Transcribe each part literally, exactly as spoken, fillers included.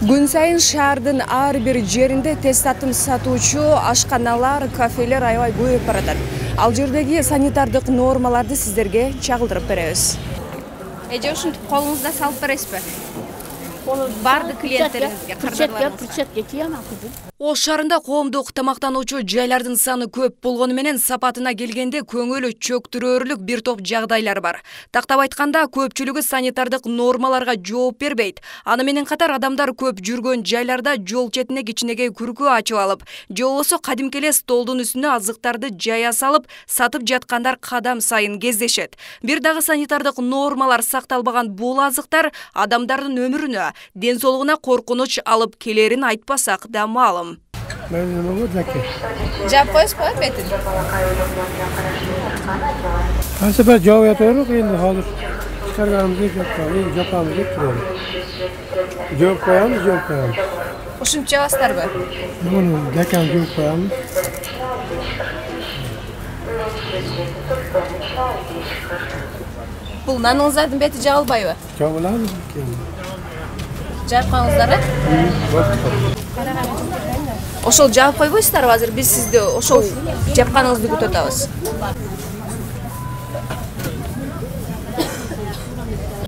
Күн сайын шаардын ар бир жеринде тест татым сатуучу ашканалар, кафелер аябай көбөйүп баратат. Ал жердеги санитардык нормаларды сиздерге чагылдырып беребиз. Эже ушинтип колуңузда салып бересизби? Бардык клиенттериңизге, кардарларыңызга. Ош шаарында коомдук тамактануучу жайлардын саны көп болгону менен сапатына келгенде көңүл чөктүрөрлүк бир топ жагдайлар бар. Тактап айтканда, көпчүлүгү санитардык нормаларга жооп бербейт. Аны менен катар адамдар көп жүргөн жайларда жол четине кичинекей күркү ачып алып, же болбосо кадимки эле столдун үстүнө азыктарды жая салып, сатып жаткандар кадам сайын кездешет. Бир дагы санитардык нормалар сакталбаган бул азыктар адамдардын өмүрүнө, ден соолугуна коркунуч алып келерин айтпасак да маалым. Жап коесузбу бетин? Кайсы бир жаап атабыз, энди азыр чыгарганыбызды жаппайбыз, жапабыз деп турабыз. Жооп коебуз, жооп коебуз. Ушинтип жабасыздарбы? Муну декан жооп коебуз. Бул наныңыздардын бети жабылбайбы? Жабылабыз. Жаап коюңуздар, э? Ошол жаап койбойсуздарбы? Азыр биз сизди ошол жапканыңызды күтүп атабыз.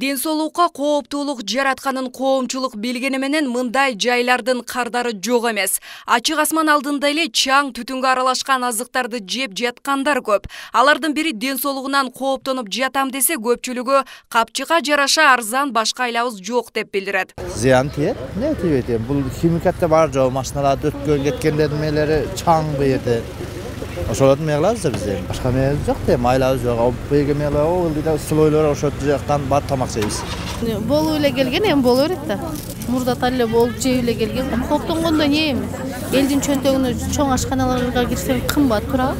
Ден соолукка кооптуулук жаратканын коомчулук билгени менен мындай жайлардын кардары жок эмес. Ачык асман алдында эле чаң түтүнгө аралашкан азыктарды жеп жаткандар көп. Алардын бири ден соолугунан кооптонуп жатам десе, көпчүлүгү капчыга жараша арзан башка айлабыз жок деп билдирет. Зыян тиет, не тиет? Бул химикатта бар жок, машиналарды өткөн кеткендердин мээлери чаң бу жерде. Ошолорду эмне кылабыз биз? Башка эмебиз жок да, майлабыз жок. Алып беге мээлер, о, элде слойлор ошол жактан бар тамак жейбиз. Болуп эле келген, эми боло берет да. Мурда эле болуп жеп эле келген. Кооптонгондо не эми? Элдин чөнтөгүнө чоң ашканаларга кирсең кымбат турабы?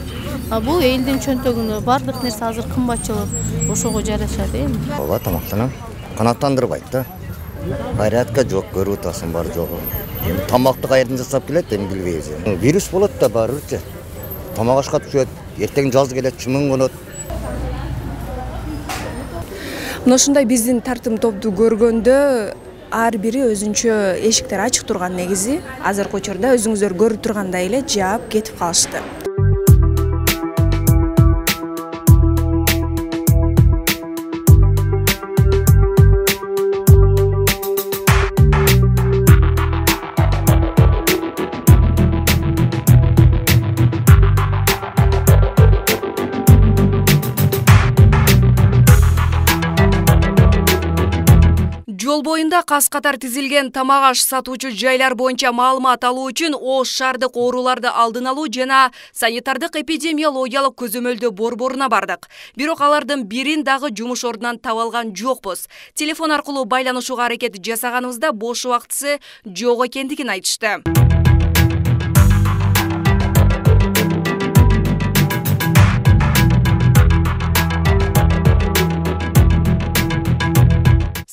А бул элдин чөнтөгүнө бардык нерсе азыр кымбатчылык ошого жарашат эми. Ооба, тамактанам. Канааттандырбайт да. Порядка жок, көрүп атасың бар жогу. Эми тамакты кайерден жасап келет, эми билбейбиз. Вирус болот да барыбыр. Тамак ашка түшөт, эртең жаз келет, чымын конот. Мына ушундай биздин тартым топту көргөндө ар бири өзүнчө эшиктер ачык турган негизи. Азыркы учурда өзүңүздөр көрүп тургандай эле жаап кетип калышты. Жол боюнда кас-катар тизилген тамак аш сатуучу жайлар боюнча маалымат алуу үчүн Ош шаардык ооруларды алдын алуу жана санитардык эпидемиологиялык көзөмөлдөө борборуна бардык. Бирок алардын бирин дагы жумуш ордунан таба алган жокпуз. Телефон аркылуу байланышууга аракет жасаганыбызда бош убактысы жок экендигин айтышты.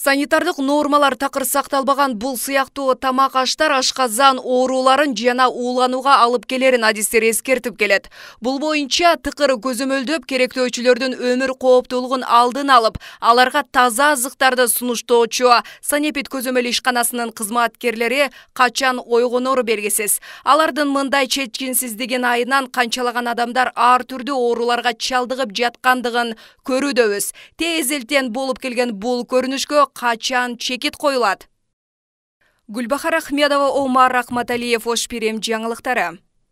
Санитардык нормалар такыр сакталбаган бул сыяктуу тамак аштар ашказан ооруларын жана ууланууга алып келерин адистер эскертип келет. Бул боюнча тыкыр көзөмөлдөп керектөөчүлөрдүн өмүр кооптуулугун алдын алып, аларга таза азыктарды сунуштоочу Санепид көзөмөл ишканасынын кызматкерлери качан ойгонору белгисиз. Алардын мындай чечкинсиздигин айынан канчалаган адамдар ар түрдүү ооруларга чалдыгып жаткандыгын көрүүдөбүз. Тез элтен болуп келген бул көрүнүшкө качан чекит коюлат? Гүлбахар Ахмедова, Омар Рахматалиев, Ош Пирим жаңылыктары.